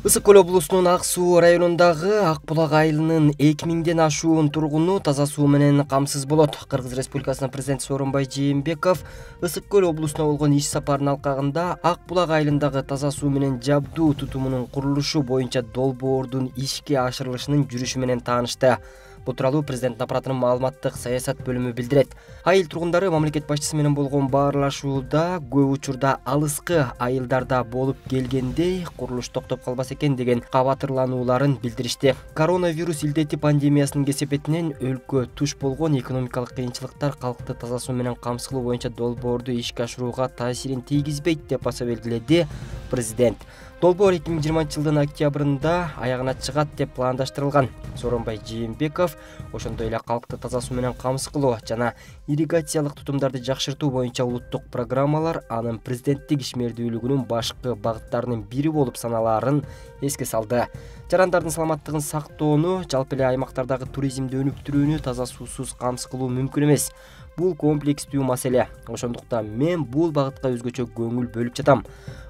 Ысык көл облусунун Ак Суу районундагы Ак Булак айылынын 2000ден ашуун тургуну таза суу менен камсыз болот. Кыргыз Республикасынын президенти Сооронбай Жээнбеков Ысык көл облусуна болгон иш сапарынын алкагында Ак Булак айылындагы таза суу менен жабдуу тутумунун курулушу боюнча долбоордун ишке ашырылышынын жүрүшү менен таанышты. Бул тууралуу президент аппаратынын маалыматтык саясат бөлүмү билдирет. Айыл тургундары мамлекет башчысы менен болгон баарлашууда көп учурда алыскы айылдарда болуп келгендей курулуш токтоп калбас экен деген кабатырланууларын билдиришти. Коронавирус илдети пандемиясынын кесепетинен өлкө туш болгон экономикалык кыйынчылыктар калкты таза суу менен камсыздоо боюнча долбоорду ишке ашырууга таасирин тийгизбейт деп баса белгиледи президент. Долбоор 2020-жылдын октябрында аягына чыгат деп пландаштырылган. Сооронбай Жээнбеков ошондой эле калкты таза суу менен камсыз кылуу жана ирригациялык тутумдарды жакшыртуу боюнча улуттук программалар анын президенттик ишмердүүлүгүнүн башкы багыттарынын бири болуп саналаарын эске салды. Жарандардын саламаттыгын сактоону, жалпы эле аймактардагы туризмди өнүктүрүүнү таза суусуз камсыз кылуу мүмкүн эмес. Бул комплекстүү маселе. Ошондуктан мен бул багытка өзгөчө көңүл бөлүп жатам.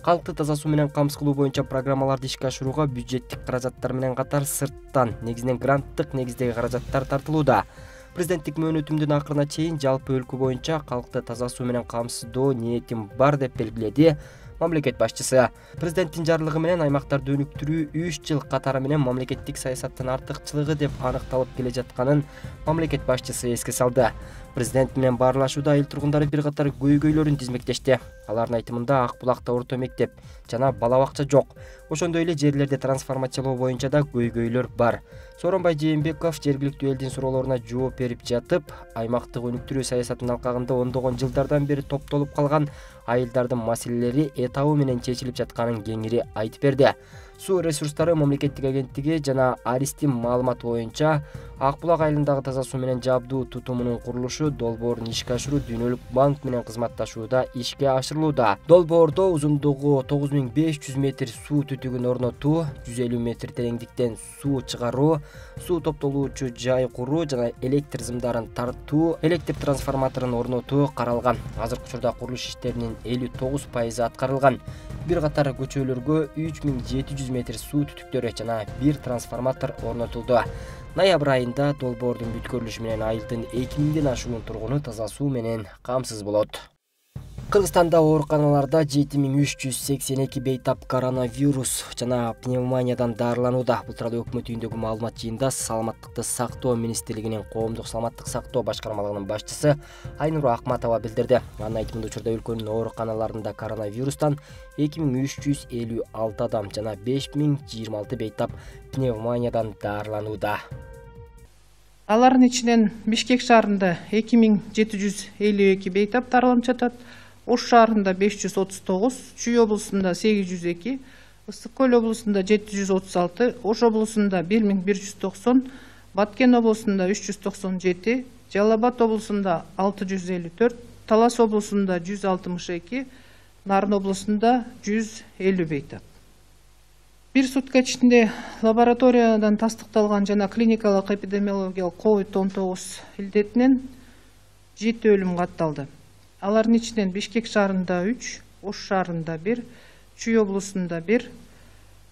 Калкты таза суу менен камсыз кылуу боюнча программаларды ишке ашырууга бюджеттик каражаттар менен катар сырттан, негизинен гранттык негиздеги каражаттар тартылууда. Президенттик мөөнөтүмдүн акырына чейин жалпы өлкө боюнча калкты таза суу менен камсыздоо ниетим бар деп белгиледи мамлекет башчысы. Президенттин жарлыгы менен аймактарды өнүктүрүү 3 жыл катары менен мамлекеттик саясаттын артыкчылыгы деп аныкталып келе жатканын мамлекет башчысы эске салды. Президент менен баарлашууда айыл тургундары бир катар көйгөйлөрүн тизмектешти. Алардын айтымында Ак Булакта орто мектеп жана бала бакча жок. Ошондой эле жерлерди трансформациялоо боюнча да көйгөйлөр бар. Сооронбай Жээнбеков жергиликтүү элдин суроолоруна жооп берип жатып, аймактык өнүктүрүү саясатынын алкагында ондогон жылдардан бери топтолуп калган айылдардын маселелери этабы менен чечилип жатканын кеңири айтып берди. Суу ресурстары мамлекеттик агенттиги жана Аристин маалыматы боюнча Ак Булак айылындагы таза суу менен жабдуу тутумунун курулушу долбоорун ишке ашыруу Дүйнөлүк банк менен кызматташууда ишке ашырылууда. Долбоордо узундугу 9500 метр суу түтүгүн орнотуу, 150 метр тереңдиктен суу чыгаруу, суу топтолуучу жай куруу жана электр зымдарын тартуу, электр трансформаторун орнотуу каралган. Азыркы учурда курулуш иштеринин 59% аткарылган. Бир катар көчөлөргө 3700 метр суу түтүктөрү жана бир трансформатор орнотулду. Ноябрь айында долбоордун бүткөрүлүшү менен айылдын 2000ден ашуун тургуну таза суу менен камсыз болот. Кыргызстанда ооруканаларда 7382 бейтап коронавирус жана пневмониядан даарыланууда. Бул тууралуу өкмөт үйүндөгү маалымат жыйында Саламаттыкты сактоо министрлигинин коомдук саламаттык сактоо башкармалыгынын башчысы Айнура Акматова билдирди. Анын айтымында учурда өлкөнүн ооруканаларында коронавирустан 2356 адам жана 5026 бейтап пневмониядан даарыланууда. Алардын ичинен Бишкек шаарында 2752 бейтап даарыланып жатат. Ош шаарында 539, Чүй облусунда 802, Ысык көл облусунда 736, Ош облусунда 1190, Баткен облусунда 397, Жалал Абад облусунда 654, Талас облусунда 162, Нарын облусунда 150 бейтап. Бир сутка ичинде лабораториядан тастыкталган жана клиникалык эпидемиологиялык COVID-19 илдетинен 7 өлүм катталды. Алардын ичинен Бишкек шаарында 3, Ош шаарында 1, Чүй облусунда 1,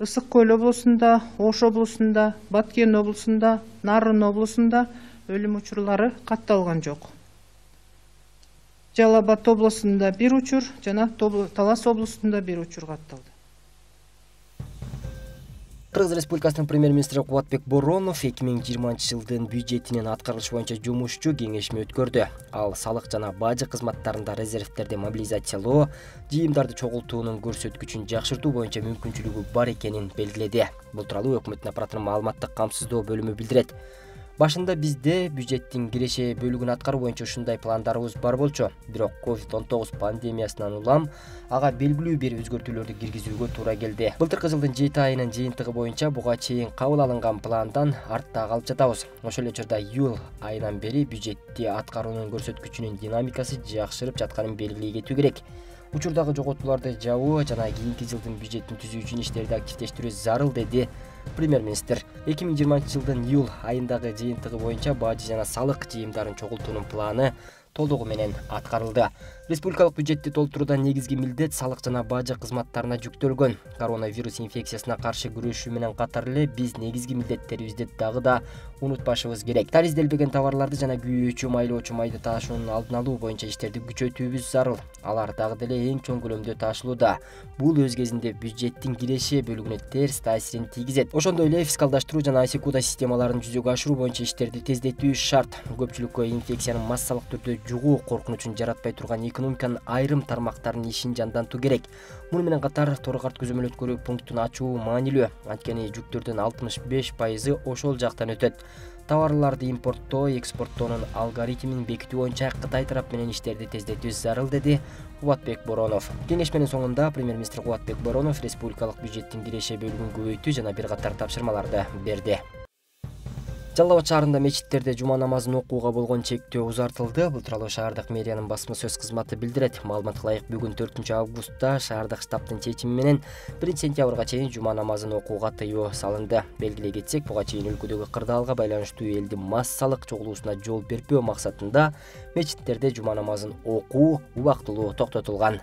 Ысык көл облусунда, Ош облусунда, Баткен облусунда, Нарын облусунда өлүм учурлары катталган жок. Жалал Абад облусунда 1 учур жана Талас облусунда 1 учур катталды. Кыргыз Республикасынын премьер-министри Кубатбек Боронов 2020-жылдын бюджетинин аткарылышы боюнча жумушчу кеңешме өткөрдү. Ал салык жана бажы кызматтарында резервтерди мобилизациялоо, жыйымдарды чогултуунун көрсөткүчүн жакшыртуу боюнча мүмкүнчүлүгү бар экенин белгиледи. Бул тууралуу өкмөттүн аппаратынын маалыматтык камсыздоо бөлүмү билдирет. Башында бизде бюджеттин киреше бөлүгүн аткаруу боюнча ушундай пландарыбыз бар болчу. Бирок COVID-19 пандемиясынан улам ага белгилүү бир өзгөртүүлөрдү киргизүүгө туура келди. Былтыркы жылдын 7 айынын жыйынтыгы боюнча буга чейин кабыл алынган пландан артта калып жатабыз. Ошол эле учурда июль айынан бери бюджетти аткаруунун көрсөткүчүнүн динамикасы жакшырып жатканын белгилей кетүү керек. Учурдагы жоготууларды жабуу жана кийинки жылдын бюджетин түзүү үчүн иштерди активдештирүү зарыл, деди премьер-министр. 2020-жылдын июль айындагы жыйынтыгы боюнча бажы жана салык жыйымдарын чогултуунун планы толугу менен аткарылды. Республикалык бюджетти толтурууда негизги милдет салык жана бажы кызматтарына жүктөлгөн. Коронавирус инфекциясына каршы күрөшүү менен катар эле биз негизги милдеттерибизди дагы да унутпашыбыз керек. Таризделбеген товарларды жана күйөөчү, майлоочу майды таашуунун алдын алуу боюнча иштерди күчөтүүбүз зарыл. Алар дагы деле эң чоң көлөмдө таашылууда. Бул өз кезинде бюджеттин киреше бөлүгүнө терс таасирин тийгизет. Ошондой эле фискалдаштыруу жана айсекуда системаларын жүзөгө ашыруу боюнча иштерди тездетүү шарт. Көпчүлүккө инфекциянын массалык түрдө жугуу коркунучун жаратпай турган экономиканын айрым тармактарынын ишин жандантуу керек. Муну менен катар торокарт көзөмөл өткөрүү пунктун ачуу маанилүү. Анткени жүктөрдүн 65% ошол жактан өтөт. Товарларды импорттоо, экспорттоонун алгоритмин бекитүү боюнча Кытай тарап менен иштерди тездетүү зарыл, деди Кубатбек Боронов. Кеңешменин соңунда премьер-министр Кубатбек Боронов республикалык бюджеттин киреше бөлүгүн көбөйтүү жана бир катар тапшырмаларды берди. Жалал Абад шаарында мечиттерде жума намазын окууга болгон чектөө узартылды. Бул тууралуу шаардык мэриянын басма сөз кызматы билдирет. Маалыматка ылайык бүгүн 4-августта шаардык штабтын чечими менен 1-сентябрга чейин жума намазын окууга тыюу салынды. Белгилей кетсек, буга чейин өлкөдөгү кырдаалга байланыштуу элдин массалык чогулуусуна жол бербөө максатында мечиттерде жума намазын окуу убактылуу токтотулган.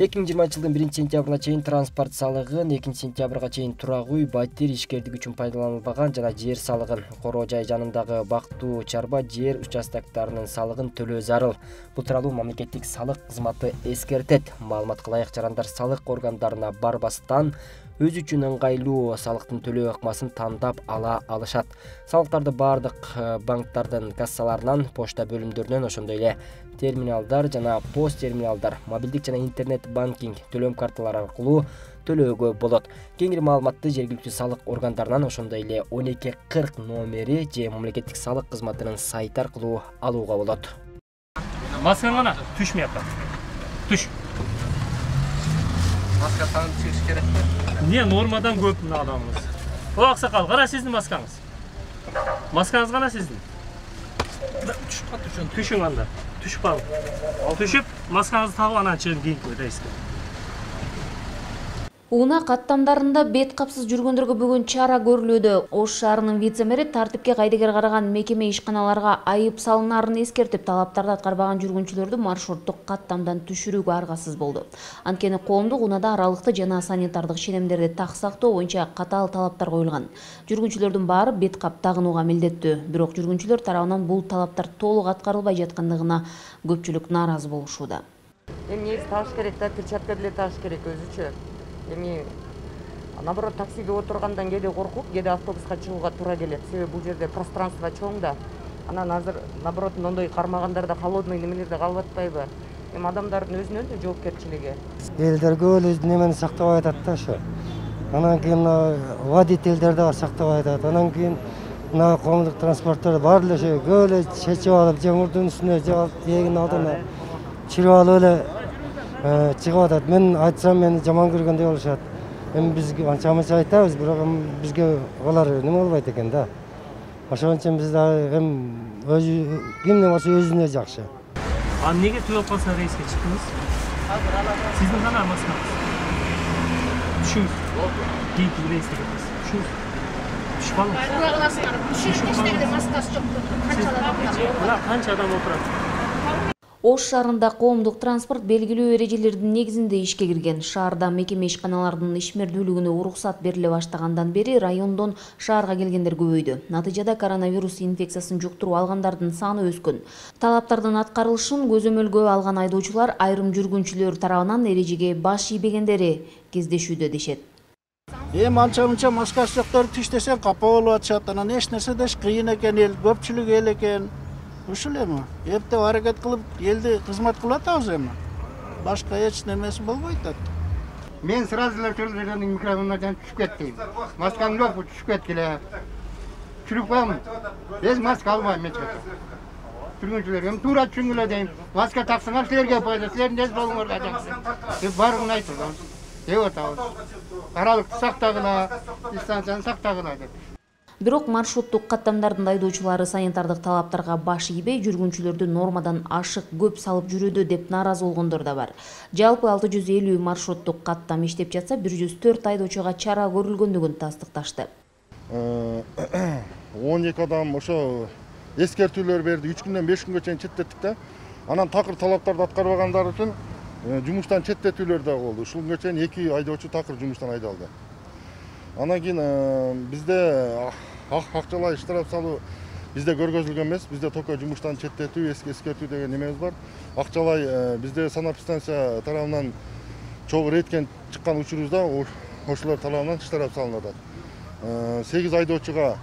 2020-жылдын 1-сентябрына чейин транспорт салыгын, 2-сентябрга чейин турак үй, батир, ишкердик үчүн пайдаланылбаган жана жер салыгын, короо жай жанындагы бактуу чарба жер участоктарынын салыгын төлөө зарыл. Бул тууралуу мамлекеттик салык кызматы эскертет. Маалыматка ылайык жарандар салык органдарына барбастан өз үчүн ыңгайлуу салыктын төлөө ыкмасын тандап ала алышат. Салыктарды бардык банктардын кассаларынан, почта бөлүмдөрүнөн, ошондой эле терминалдар жана пост терминалдар, мобилдик жана интернет банкинг төлөм карталары аркылуу төлөөгө болот. Кеңири маалыматты жергиликтүү салык органдарынан, ошондой эле 1240 номери же мамлекеттик салык кызматынын сайты аркылуу алууга болот. Масканы гана түшмөй атат. Түш. Маска тагып чыгыш керекпи? Не нормадан көп мына адамыбыз. О аксакал, кара сиздин маскаңыз. Маскаңыз гана сиздин. Түшүп калды. Түшүң анда. Түшүп кал. Түшүп, маскаңызды тагып анан чыгып кийип койдуңуз. Уна каттамдарында бет капсыз жүргөндөргө бүгүн чара көрүлүүдө. Ош шаарынын вице-мэри тартипке кайдыгер караган мекеме ишканаларга айып салынарын эскертип, талаптарды аткарбаган жүргүнчүлөрдү маршруттук каттамдан түшүрүүгө аргасыз болду. Анткени коомдук унаада аралыкты жана санитардык ченемдерди так сактоо боюнча катаал талаптар коюлган. Жүргүнчүлөрдүн баары бет кап тагынууга милдеттүү. Бирок жүргүнчүлөр тарабынан бул талаптар толук аткарылбай жаткандыгына көпчүлүк нааразы болушууда. Негизи тагыш керек да, перчатка деле тагыш керек өзүчө. Эми наоборот таксиге отургандан кээде коркуп, кээде автобуска чыгууга туура келет. Себеби бул жерде пространство чоң да. Анан азыр наоборот мондой кармагандарда холодный немелерде калып атпайбы? Эми адамдардын өзүнүн да жоопкерчилиги. Элдерге эле немени сактабай атат да ошо. Анан кийин водительдер да сактабай атат. Анан кийин мына коомдук транспорттор баары эле ошо көп эле чечип алып, же мурдун үстүнө же эгин алдына чирip алып эле чыгып атат. Мен айтсам мени жаман көргөндөй болушат. Эми бизге анча-мынча айтабыз, бирок бизге алар неме болбойт экен да. Ошон үчүн биз дагы өзү кимде болсо өзүнө жакшы. А неге түгөп калса рейске чыктыңыз? Сиздин гана маскаңыз. Түшүңүз. Кийип рейске кетесиз. Түшүңүз. Түшүп калыңыз. Тура каласыңар. Түшүңүз маскасы жок. Канча адам отурат? Ош шаарында коомдук транспорт белгилүү эрежелердин негизинде ишке кирген. Шаарда мекеме ишканаларынын ишмердүүлүгүнө уруксат бериле баштагандан бери райондон шаарга келгендер көбөйдү. Натыйжада коронавирус инфекциясын жуктуруп алгандардын саны өскөн. Талаптардын аткарылышын көзөмөлгө алган айдоочулар айрым жүргүнчүлөр тарабынан эрежеге баш ийбегендери кездешүүдө дешет. Анча-мынча маскасы жоктор түш десең капа болуп атышат. Анан эч нерсе деш кыйын экен, эл көпчүлүк эл экен. Ушул эми эптеп аракет кылып элди кызмат кылып атабыз эми. Башка эч немеси болбойт да. Мен сразу эле телевизордун микрофонунан түшүп кеттим. Маскам жок, түшүп кетти эле. Чүрүп калдым. Эч маска албайм эч качан. Жүргүнчүлөр эми туура түшүнгүлө дейм. Маска таксаңар силерге пайда, силердин эч болуңорго жакшы. Деп баарыгын айтып деп атабыз. Аралыкты сактагыла, дистанцияны сактагыла деп. Бирок маршруттук каттамдардын айдоочулары санитардык талаптарга баш ийбей, жүргүнчүлөрдү нормадан ашык көп салып жүрүүдө деп нааразы болгондор да бар. Жалпы 650 маршруттук каттам иштеп жатса, 104 айдоочуга чара көрүлгөндүгүн тастыкташты. 12 адам ошо эскертүүлөр берди. 3 күндөн 5 күнгө чейин четтеттик да. Анан такыр талаптарды аткарбагандар үчүн жумуштан четтетүүлөр да болду. Ушунга чейин 2 айдоочу такыр жумуштан айдалды. Анан кийин бизде акчалай штраф салуу бизде көргөзүлгөн эмес. Бизде только жумуштан четтетүү, эскертүү деген немебиз бар. Акчалай бизде санэпидстанция тарабынан чогуу рейдке чыккан учурубузда ошолор тарабынан штраф салынып атат. 8 айдоочуга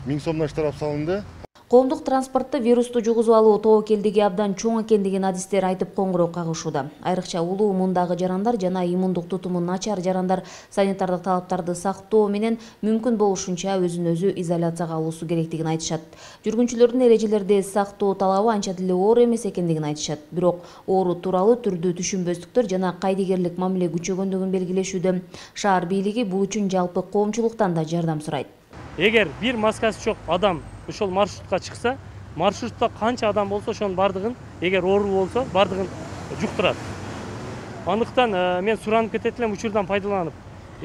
1000 сомдон штраф салынды. Коомдук транспортто вирусту жугузуп алуу тобокелдиги абдан чоң экендигин адистер айтып коңгуроо кагышууда. Айрыкча улуу мундагы жарандар жана иммундук тутуму начар жарандар санитардык талаптарды сактоо менен мүмкүн болушунча өзүн өзү изоляцияга алуусу керектигин айтышат. Жүргүнчүлөрдүн эрежелерди сактоо талабы анча деле оор эмес экендигин айтышат. Бирок оору тууралуу түрдүү түшүнбөстүктөр жана кайдыгерлик мамиле күчөгөндүгүн белгилешүүдө. Шаар бийлиги бул үчүн жалпы коомчулуктан да жардам сурайт. Эгер бир маскасы жок адам ошол маршрутка чыкса, маршрутта канча адам болсо ошонун бардыгын, эгер оору болсо, бардыгын жуктурат. Андыктан мен суранып кетет элем учурдан пайдаланып.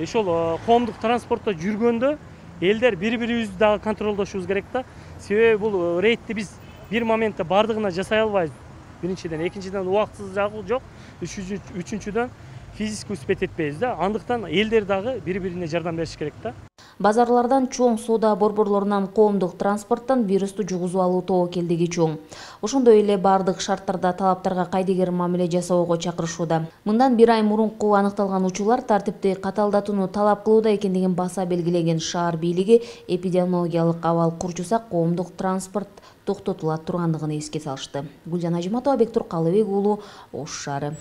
Ошол коомдук транспортто жүргөндө элдер бири-бирибизди дагы контролдошубуз керек да. Себеби бул рейдти биз бир моментте бардыгына жасай албайбыз. Биринчиден, экинчиден убактысыздыгы жок, үчүнчүдөн физически успеть этпейбиз да. Андыктан элдер дагы бири-бирине жардам бериш керек да. Базарлардан, чоң соода борборлорунан, коомдук транспорттон вирусту жугузуп алуу тобокелдиги чоң. Ошондой эле бардык шарттарда талаптарга кайдыгер мамиле жасоого чакырышууда. Мындан 1 ай мурунку аныкталган учурлар тартипти каталдатууну талап кылууда экендигин баса белгилеген шаар бийлиги эпидемиологиялык абал курчуса коомдук транспорт токтотула тургандыгын эске салышты. Гүлжан Ажиматова, Бектур Калыбек уулу, Ош шаары.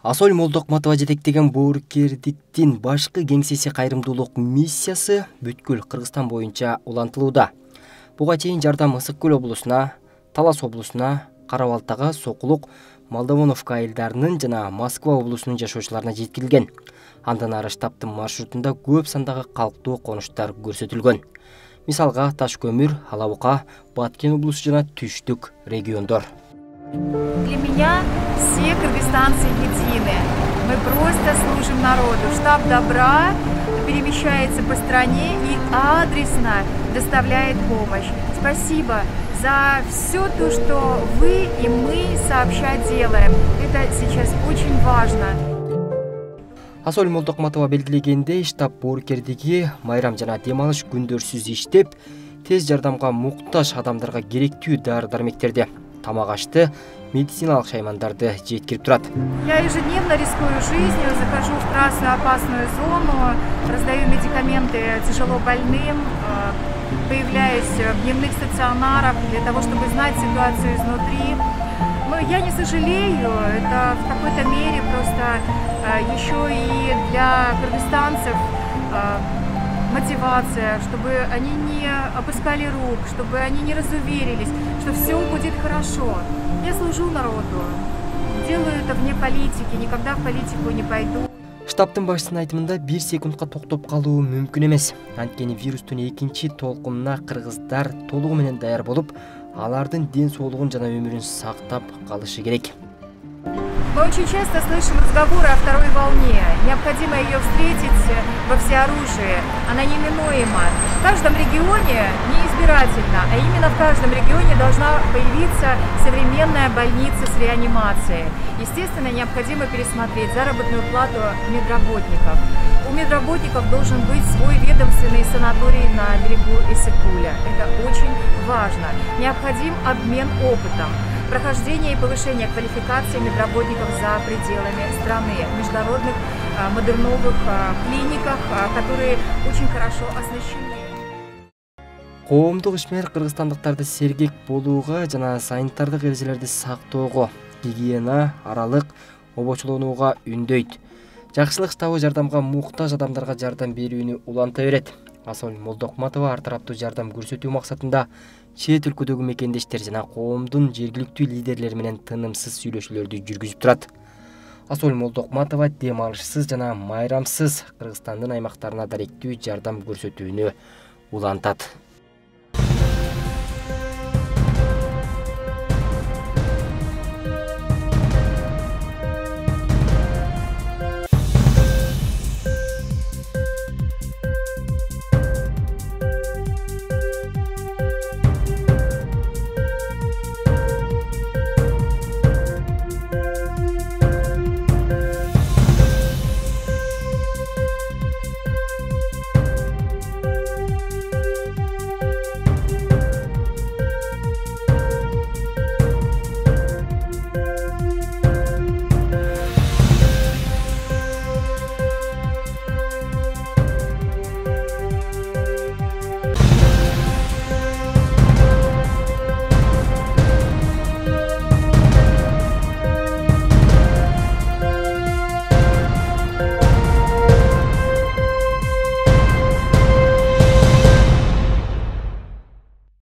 Асоль Молдокматова жетектеген боорукердиктин башкы кеңсеси кайрымдуулук миссиясы бүткүл Кыргызстан боюнча улантылууда. Буга чейин жардам Ысык Көл облусуна, Талас облусуна, Карабалтага, Сокулук, Молдовоновка айылдарынын жана Москва облусунун жашоочуларына жеткирилген. Андан ары штабтын маршрутунда көп сандагы калктуу конуштар көрсөтүлгөн. Мисалга Таш көмүр, Алабука, Баткен облусу жана Түштүк региондор. Для меня все кыргызстанцы едины. Мы просто служим народу. Штаб добра перемещается по стране и адресно доставляет помощь. Спасибо за все то, что вы и мы сообща делаем. Это сейчас очень важно. Асоль Молдокматова белгилегендей, штаб боорукердиги майрам жана дем алыш күндөрсүз иштеп, тез жардамга муктаж адамдарга керектүү дары-дармектерди, тамак ашты, медициналык шаймандарды жеткирип турат. Я ежедневно рискую жизнью, захожу в красную опасную зону, раздаю медикаменты тяжело больным, появляюсь в дневных стационарах для того, чтобы знать ситуацию изнутри. Но я не сожалею, это в какой-то мере просто еще и для кыргызстанцев мотивация, чтобы они не опускали рук, чтобы они не разуверились, что все будет хорошо. Я служу народу, делаю это вне политики, никогда в политику не пойду. Штабтын башчысынын айтымында 1 секундка токтоп калуу мүмкүн эмес. Анткени вирустун экинчи толкунуна кыргыздар толугу менен даяр болуп, алардын ден соолугун жана өмүрүн сактап калышы керек. Мы очень часто слышим разговоры о второй волне. Необходимо ее встретить во всеоружии. Она неминуема. В каждом регионе, не избирательно, а именно в каждом регионе должна появиться современная больница с реанимацией. Естественно, необходимо пересмотреть заработную плату медработников. У медработников должен быть свой ведомственный санаторий на берегу Ысык-Куля. Это очень важно. Необходим обмен опытом. Прохождение и повышение квалификации медработников за пределами страны, в международных модерновых клиниках, которые очень хорошо оснащены. Коомдук ишмер кыргызстандыктарды сергек болууга жана санитардык эрежелерди сактоого, гигиена, аралык обочулонууга үндөйт. Жакшылык штабы жардамга муктаж адамдарга жардам берүүнү уланта берет. Асоль Молдокматова ар тараптуу жардам көрсөтүү максатында чет өлкөдөгү мекендештер жана коомдун жергиликтүү лидерлери менен тынымсыз сүйлөшүүлөрдү жүргүзүп турат. Асоль Молдокматова дем алышсыз жана майрамсыз Кыргызстандын аймактарына даректүү жардам көрсөтүүнү улантат.